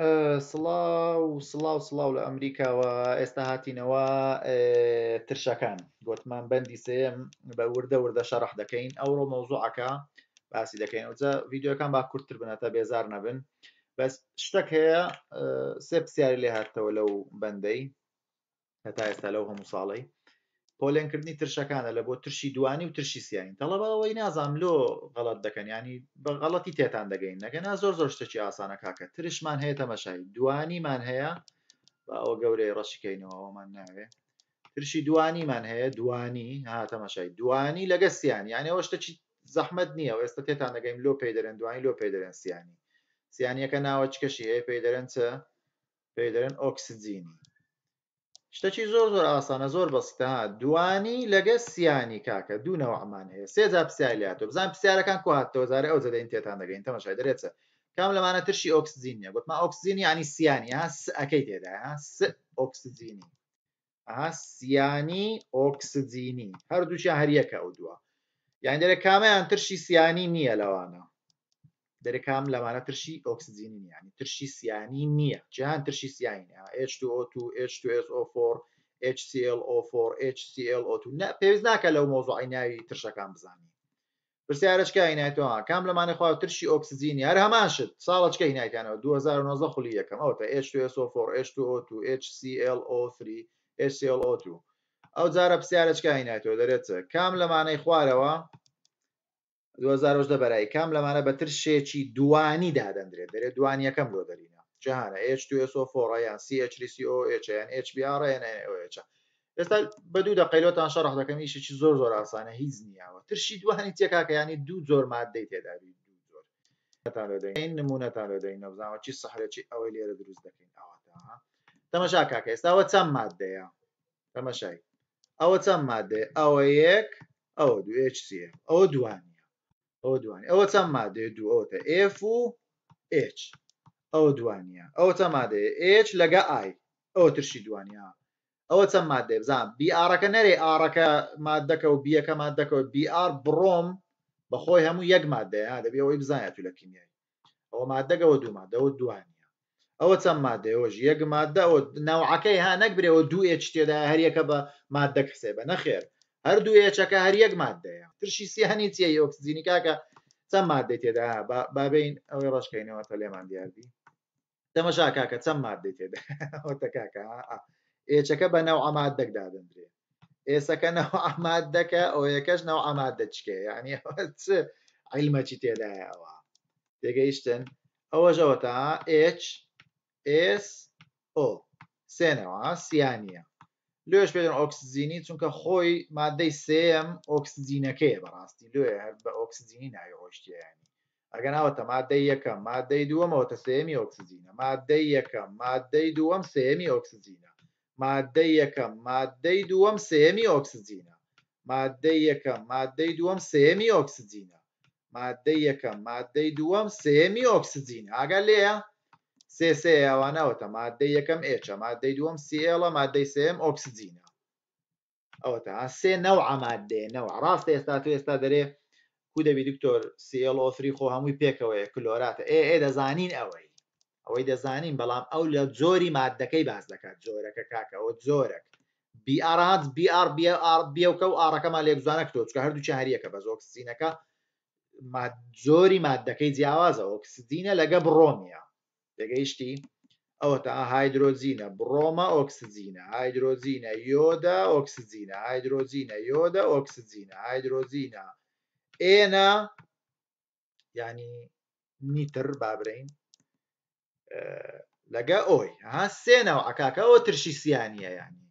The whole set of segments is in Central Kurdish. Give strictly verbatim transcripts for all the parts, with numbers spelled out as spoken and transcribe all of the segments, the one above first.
سڵاو سڵاو سڵاو لە ئەمریکاوە. ئێستا هاتینەوە ترشەکان، گوتمان بەندی سێم بە وردە وردە شەرح دەکەین. ئەوڕۆ مەوزوعەکە باسی دەکەین. ئەوجا ڤیدیۆکان با کورتتر بن تا بێزار نەبن. بەس شتێک هەیە، سێ پرسیاری لێ هاتەوە لەو بەندەی هەتا ئێستا لەو هەموو ساڵەی پۆلێنکردنی ترشەکانە لە بۆ ترشی دوانی و ترشی سیانی. تەڵەبە ئەوەی نازانم لۆ غەڵەت دەکەن، ینی بە غەڵەتی تێتان دەگەین. نەگەنا زۆر زۆر شتێکی ئاسانە کاکە. ترشمان هەیە، تەمەشای دوانیمان هەیە، با ئەوە گەورەی ڕەشیکەینەوە ئەومان ناوێ. ترشی دوانیمان هەیە، دوانی ها تەمەشای دوانی لەگە سیانی، یعنی ئەوە شتێکی زەحمەت نییە. و ئێستا تێتان دەگەین لۆ پێی دەرێن دوانی، لۆ پێی دەرێن سیانی. سیانیەکە ناوەچکەشی هەیە، پێی دەرێن چ؟ پێی دەرێن ئۆکسجینی. شتێکی زۆر زۆر ئاسانە، زۆر بەسیتە. ها دوانی لەگە سیانی کاکە، دوو نەوەمان هەیە. سێ جار پرسیاری لێ هاتەوە. بزان پرسیارەکان کو هاتەوە، جارێ ئەو جەدەین تێتان دەگەین. تەماشای دەرێت کام لەمانە ترشی ئۆکسجین نییە؟ گوتمان ئۆکسجین یعنی سیانی، ها س ئەکەی تێدا، ها س ئۆکسجینی، ها سیانی ئۆکسجینی، هەردووشیان هەر یەکە ئەو دووە. یعنی دەرێ کامیان ترشی سیانی نییە لەوانە؟ دەرێ کام لەمانە ترشی ئۆکسجینی نییە، یعنی ترشی سیانی نییە. جیهان ترشی سیانی نییە. H two O two، H two S O four، H C L O four، H C L O two. پێویست ناکە لەو مۆزوعی ناوی ترشەکان بزانی. پرسیارەچکە هینایتەوە کام لەمانە خوا ترشی ئۆکسجینی؟ هەر هەمان شت ساڵەچکە هینایتیانەوە دوو هەزار و نۆزدە خولی یەکەم. ئەوتە H two S O four، H two O two، H C L O three، H C L O two. ئەو جارە پرسیارەچکە هینایتەوە دەرێت کام لەمانەی خوارەوە دوو هەزار و هەژدە بەرایی کام لەمانە بە ترشێکی دوانی دادەندرێت؟ دەرێت دوانیەکەم لۆ دەرینە جیهانە H two S O four یان C H three C O H یان H B R یان N O H. ئێستا بە دوو دەقەی لۆتان شەرح دەکەم. ئیشێکی زۆر زۆر ئاسانە، هیچ نییەوە. ترشی دوانی چیە کاکە؟ یعنی دوو جۆر مادەی تێدا بی، دوو جۆر. نمونەتان لۆ دەین، نمونەتان لۆ دەین، بزانەوە چی سەحرێکی ئەوەی لێرە دروست دەکەین. ئەوەتا تەمەشا کاکە، ئێستا ئەوە چەند مادەیە؟ تەمەشای ئەوە چەند مادەیە؟ ئەوە یەک، ئەوە دوو، H C F، ئەوە دوانیە، ئەوە دوانی. ئەوە چەند مادەیە؟ دوو، ئەوەتە F و H، ئەوە دوانیە. ئەوە چەند مادەیە؟ H لەگە I، ئەوە ترشی دوانیە. ئەوە چەند مادەیە؟ بزان B R-ەکە نەرێ R-ەکە مادەکە و B-ەکە مادەکە و B R بڕۆم بەخۆی هەموو یەک مادەیە. دەبێ ئەوەی بزانێت تو لە کیمیایی. ئەوە مادەکە، ئەوە دوو مادە، ئەوە دوانیە. ئەوە چەند مادەیە؟ ئەوەش یەک مادە. ئەوە نەوعەکەی ها نەک برێەوە دوو H تێدایە، هەر یەکە بە مادەک حسێبە. نەخێر، هەر دوو H-ەکە هەر یەک مادەیە. ترشی سیانی چییە؟ ئۆکسجینی کاکە چەند مادەی تێدا؟ بابین ئەوەی ڕەشکەینەوە تا لێمان دیاربی. تەمەشا کاکە چەند مادەی تێدا؟ ئەوەتە کاکە H-ەکە بە نەوعە مادەک دادەندرێ، S-ەکە نەوعە مادەکە، O-یەکەش نەوعە مادە چکە. یعنی ئەوە چ عیلمەکی تێدایە؟ ئەوە تێگەیشتن؟ ئەوەش ئەوەتە H S O سێنەوە سیانیە. لۆش پێدەن ئۆکسجینی چونکە خۆی مادەی سێم ئۆکسجینەکەیە بەڕاستی، لۆیە هەر بە ئۆکسجینی ناوی ڕۆیشتیە. یعنی ئەگەر ئەوەتە مادەی یەکەم، مادەی دووەم، ئەوەتە سێمی ئۆکسجینە. مادەی یەکەم، مادەی دووەم، سێمی ئۆکسجینە. مادەی یەکەم، مادەی دووەم، سێمی ئۆکسجینە. مادەی یەکەم، مادەی دووەم، سێمی ئۆکسجینە. مادەی یەکەم، مادەی دووەم، سێمی ئۆکسجینە. ئاگا لێیە سێ سێ ئەوانەوەتە مادەی یەکەم H، مادەی دووەم C L، مادەی سێم ئۆکسجینە. ئەوەتە سێ نەوعە مادەیە، نەوع. ڕاستە ئێستا تو ئێستا دەرێ کو دەبی دکتۆر C L O three خۆ هەمووی پێکەوەیە کلۆراتە. ئێ ئێ دەزانین ئەوەی، ئەوەی دەزانین، بەڵام ئەو لە جۆری مادەکەی باس دەکات. جۆرەکە کاکە ئەوە جۆرەک B R هات، B R، B R، B-ەکە و R-ەکەمان لێک جوانە کردەوە، چونکە هەردووکیان هەریەکە، بەس ئۆکسجینەکە جۆری مادەکەی جیاوازە. ئۆکسجینە لەگە بڕۆمیە، تێگەیشتی؟ ئەوەتە هایدرۆجینە، بڕۆمە ئۆکسجینە، هایدرۆجینە یۆدە ئۆکسجینە، هایدرۆجینە یۆدە ئۆکسجینە، هایدرۆجینە ئێنە یعنی نیتر بابرین لەگە ئۆی. ها سێ نەوعە کاکە. ئەوە ترشی سیانیە. یعنی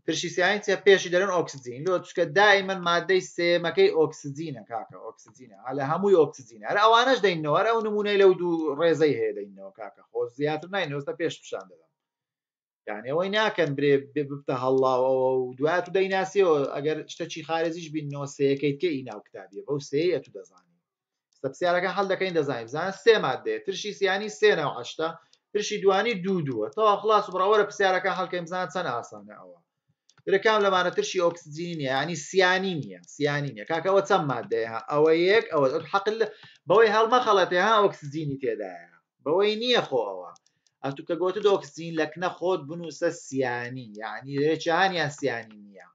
ترشی سیانی چیە؟ پێشی دەرن ئۆکسجین لۆ، چونکە دائیمەن مادەی سێمەکەی ئۆکسجینە کاکە، ئۆکسجینە لە هەمووی ئۆکسجینە. هەر ئەوانەش دەینەوە، هەر ئەو نمونەی لەو دوو ڕێزەی هەیە دەینەوە کاکە، خۆ زیاتر ناینەوە، ئێستا پێش پیشان دەدەم. یعنی ئەوەی ناکەن برێ ببتە هەڵڵاوەوە و دوات و دەیناسیەوە. ئەگەر شتەکی خارجیش بینەوە سێیەکەی تکە ئی ناو کتابیە، بەو سێیە تو دەزانی. ئێستا پرسیارەکە حەل دەکەین دەزانین. بزانە سێ مادەیە، ترشی سیانی سێ نەوع هەشتا، ترشی دوانی دوو دووە. تەوا خلاص بڕاوەرە پرسیارەکە حەلکەین بزانە چەند ئاسانە ئەوە. درێ کام لەمانە ترشی ئۆکسجینی نییە، یعنی سیانی نییە، سیانی نییە کاکە. ئەوە چەند مادەیە؟ ئەوە یەک، ئەوە حەقل بەوەی هەڵمەخەڵێتێ ها ئۆکسجینی تێدایە. بەوەی نییە خۆ ئەوە ئەتو کە گوتت ئۆکسجین لەکنە خۆت بنووسە سیانی، یعنی دەرێ سیانی نییە،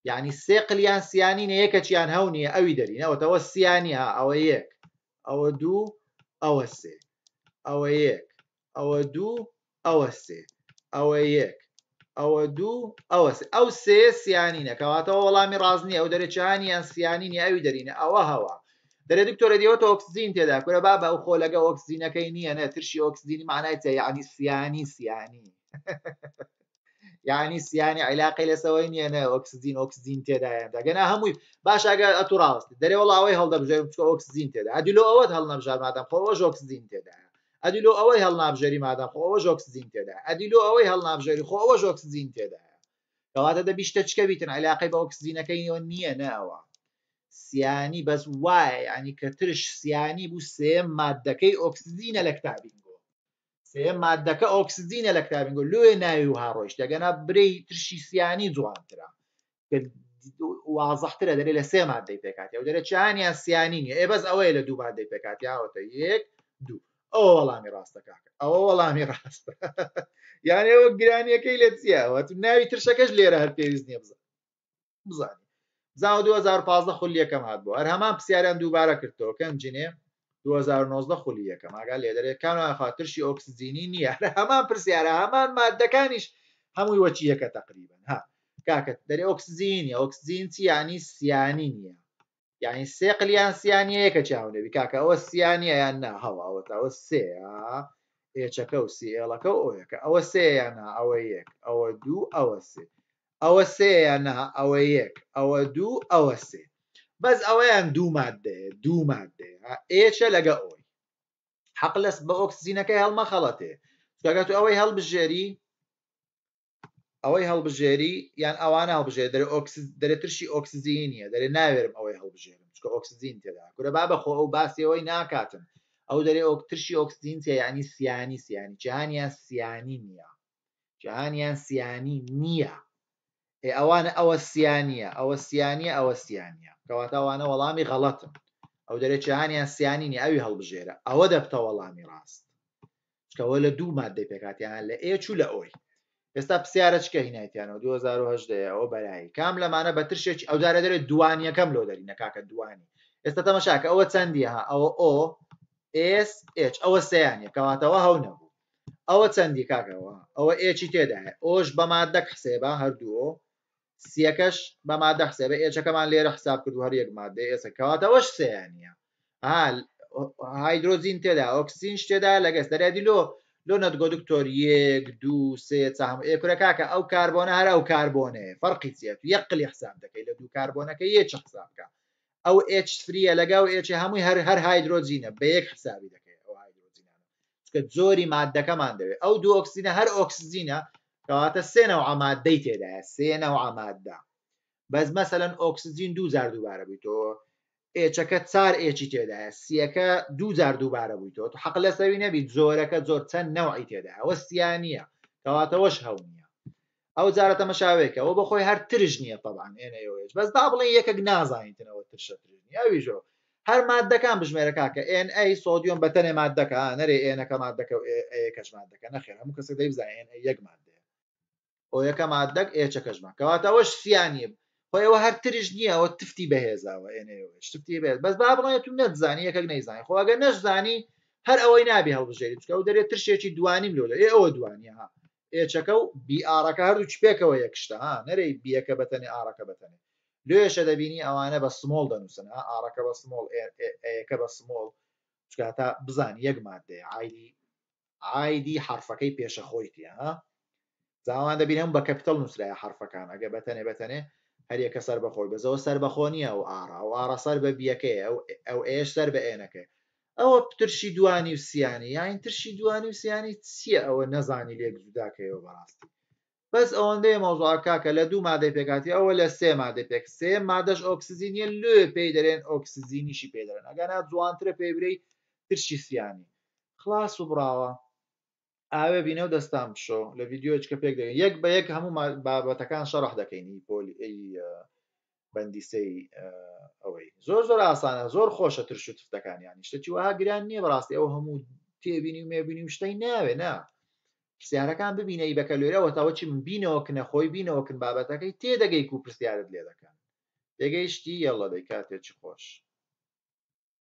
یعنی سێ قلیان سیانی نیە، یەکەچیان هەو نییە ئەوی دەرینە. ئەوەتەوە سیانی ها، ئەوە یەک، ئەوە دوو، ئەوە سێ، ئەوە یەک، ئەوە دوو، ئەوە سێ، ئەوە یەک، ئەوە دوو، ئەوە سێ، ئەو سێ سیانینە. کەواتەوە وەڵامی ڕاست نییە. ئەو دەرێ چهانیان سیانی نییە ئەوی دەرینە. ئەوە هەوا دەرێ دکتۆرە دیوەتە ئۆکسجین تێدا. کورە بابە ئەو خۆلەگە ئۆکسجینەکەی نییە، نە ترشی ئۆکسجینی معنای چیە؟ یعنی سیانی سیانی یعنی سیانی عیلاقەی لەسەوەی نییە، نە ئۆکسجین ئۆکسجین تێدایە. دەگەنا هەمووی باش ئەگەر ئەتو ڕاوەستی دەرێ وەڵا ئەوەی هەڵدەبژێرم چونکە ئۆکسجین تێدا، ئەدی لۆ ئەوەت هەڵنەبژار مادام خۆ ئەوەش ئۆکسجین تێدایە، ئەدی لۆ ئەوەی هەڵنابژێری مادام خۆ ئەوەش ئۆکسجین تێدایە، ئەدی لۆ ئەوەی هەڵنابژێری خۆ ئەوەش ئۆکسجین تێدایە. کەواتە دەبی شتە چکە بیتن عیلاقەی بە ئۆکسجینەکەی نییە، نە ئەوە سیانی بەس وایە. یعنی کە ترش سیانی بوو سێ مادەکەی ئۆکسجینە لە کتابینگۆ، سێ مادەکە ئۆکسجینە لە کتابینگۆ، لۆیە ناوی وها ڕۆیشت. ئەگەنا برێی ترشی سیانی جوانترە، وازحترە، دەرێ لە سێ مادەی پێکاتی. ئەو دەرێ چیانیان سیانی نییە، ئێ بەس ئەوەیە لە دوو مادەی پێکاتی. ئاوەتە یەک دوو، ئەوە وەڵامی ڕاستە کاکە، ئەوە وەڵامی ڕاستە. یعنی ئەوە گرانیەکەی لە چییە؟ ناوی ترشەکەش لێرە هەر پێویست نییە بزانی. زاوە دوو هەزار و پازدە خولی یەکەم هات بوو، هەر هەمان پرسیاریان دووبارە کردەوە. کەنجینێ دوو هەزار و نۆزدە خولی یەکەم ئاگا لێ دەرێ کامیان خوا ترشی ئۆکسجینی نییە. هەر هەمان پرسیارە، هەمان مادەکانیش هەمووی وەچی یەکە تقریبا. ها کاکە دەرێ ئۆکسجینیە، ئۆکسجین چی؟ یعنی سیانی نییە، یعنی سێ قلیان سیانیە یەکە چاو نەبی کاکە. ئەوە سیانیە یان نا؟ هەوا ئەوە ئەوە سێ ئێچەکە و سی ئێڵەکە و ئۆیەکە، ئەوە سێ یان نا؟ ئەوە یەک، ئەوە دوو، ئەوە سێ، ئەوە سێ یان نا؟ ئەوە یەک، ئەوە دوو، ئەوە سێ. بەس ئەوەیان دوو مادەیە، دوو مادەیە ئێچە لەگە ئۆی. حەق لەس بە ئۆکسجینەکەی هەڵمەخەڵەتێ، چونکە تو ئەوەی هەڵبژێری، ئەوەی هەڵبژێری یان ئەوانە هەڵبژێری، دەرێ دەرێ ترشی ئۆکسجینی نییە، دەرێ ناوێرم ئەوەی هەڵبژێرم چونکە ئۆکسجین تێدا. کورە بابە خۆ ئەو باسی ئەوەی ناکاتن. ئەو دەرێ ترشی ئۆکسجین چیە؟ یعنی سیانی سیانی، جیهانیان سیانی نییە، جیهانیان سیانی نییە. ئێ ئەوانە ئەوە سیانیە، ئەوە سیانیە، ئەوە سیانیە. کەواتە ئەوانە وەڵامی غەڵەتن. ئەو دەرێ جیهانیان سیانی نییە، ئەوی هەڵبژێرە، ئەوە دەبتە وەڵامی ڕاست، چونکە ئەوە لە دوو مادەی پێکهاتیان، لە ئێچ و لە ئۆی. ئێستا پرسیارە چکە هینایتیانەوە دوو هەزار و هەژدە ئەوە بەرایی کام لەمانە بە ترشێکی ئەو جارە دەرێ دوانیەکەم لۆ دەرینە کاکە دوانی. ئێستا تەمەشاکە ئەوە چەندیە؟ ها ئەوە ئۆ ئێس ئێچ، ئەوە سیانیە، کەواتەوە هەو نەبوو. ئەوە چەندی کاکەوە؟ ئەوە ئێچی تێدایە، ئۆش بە مادەک حسێبە هەردوو ئۆ، سیەکەش بە مادە حسێبە، ئێچەکەمان لێرە حساب کرد و هەر یەک مادەیە ئێستا، کەواتەوەش سیانیە. ها هایدرۆجین تێدا، ئۆکسجینش تێدا لەگەس دەرێدی لۆ لۆ نەتگۆ دکتۆر یەک دوو سێ چاهم. ئێ کورە کاکە ئەو کاربۆنە هەر ئەو کاربۆنەیە، فەرقی چییە؟ تو یەک قلی حساب دەکەی لە دوو کاربۆنەکە یەک حساب بکە. ئەو ئێچ فریە لەگەڵ ئێچ هەمووی هەر هەر هایدرۆجینە، بە یەک حسابی دەکەی ئەو هایدرۆجینانە، چونکە جۆری مادەکەمان دەوێت. ئەو دوو ئۆکسجینە هەر ئۆکسجینە، کەواتە سێ نەوع مادەی تێدایە، سێ نەوع مادە. بەس مەسەلەن ئۆکسجین دوو جار دووبارە بوویتەوە، ئێچەکە چار ئێچی تێدایە، سیەکە دوو جار دووبارە بوویتەوە، تو حەق لەسەوی نەبی جۆرەکە زۆر چەند نەوعی تێدایە، ئەوە سیانیە، کەواتەوەش هەو نییە. ئەو جارە تەمەشاوێکە ئەوە بەخۆی هەر ترش نییە طبعا ئێنەیەوەیش، بەس با بڵێن یەکێک نازانیتنەوە ترشە ترش نییە. ئەویشەوە هەر مادەکان بژمێرە کاکە، ئێن ئەی سۆدیۆم بەتەنێ مادەکە، نەرێ ئێنەکە مادەکە و ئەیەکەش مادەکە، نەخێر هەموو کەسێک دەیبزانێ ئێن ئەی یەک مادەیە، ئۆ یەکە مادەک ئێچەکەشمان، کەواتە ئەوەش سیانیە. خۆی ئەوە هەر ترش نییە، ئەوە تفتی بەهێزاوە ئێنەیەوەش تفتی بەهێز. بەس با بڵێن تو نەتزانی، یەکێک نەیزانی، خۆ ئەگەر نەشزانی هەر ئەوەی نابی هەڵبژێری، چونکە ئەو دەرێ ترشێکی دوانیم لۆ دەرێ. ئێ ئەوە دوانیە، ها ئێچەکە و بی ئارەکە هەردوو پێکەوە یەکشتە، ها نەرێی بیەکە بەتەنێ ئارەکە بەتەنێ. لێشە دەبینی ئەوانە بە small دەنووسن، ها ئارەکە بە small، ئەیەکە بە small، چونکە تا بزانی یەک مادەیە، ئایدی ئایدی حرفەکەی پێشە خۆیتیە. ها زاوان دەبینم بە capital نووسرایە حرفەکان، ئەگە بەتەنێ بەتەنێ هەر یەکە سەر بەخۆی، بەزەوە سەر بەخۆ نییە ئەو ئارە، ئەو ئارە سەر بە بیەکەیە، ئەو ئێش سەر بە ئێنەکەی. ئەوە ترشی دوانی و سیانی، یان ترشی دوانی و سیانی چییە؟ ئەوە نەزانی لێک جوداکەیەوە بەڕاستی. بەس ئەوەندەیە مەوزوع کاکە لە دوو مادەی پێکاتی، ئەوە لە سێ مادەی پێک، سێ مادەش ئۆکسجینیە، لێ پێی دەرێن ئۆکسجینیشی پێ دەرێن، ئەگەنا جوانترە پێی برێی ترشی سیانی. خلاص و براوە. ئاوێ بینە و دەستان بشۆ لە ڤیدیۆیەک کە پێک دەگەین یەک بە یەک هەموو بابەتەکان شەرح دەکەین. پۆلی ئەی بەندیسەی ئەوەی زۆر زۆر ئاسانە، زۆر خۆشە ترش و تفتەکان، یانی شتێکی وەها گران نییە بەڕاستی. ئەو هەموو تێبینی و مێبینی و شتەی ناوێ نا پرسیارەکان ببینە ئی بەکەلۆرەوە تاوە چی من بینەوە کنە خۆی بینەوە کن بابەتەکەی تێدەگەی کو پرسیارت لێ دەکەن. تێگەیشتی؟ یەڵە دەی کاتێکی خۆش.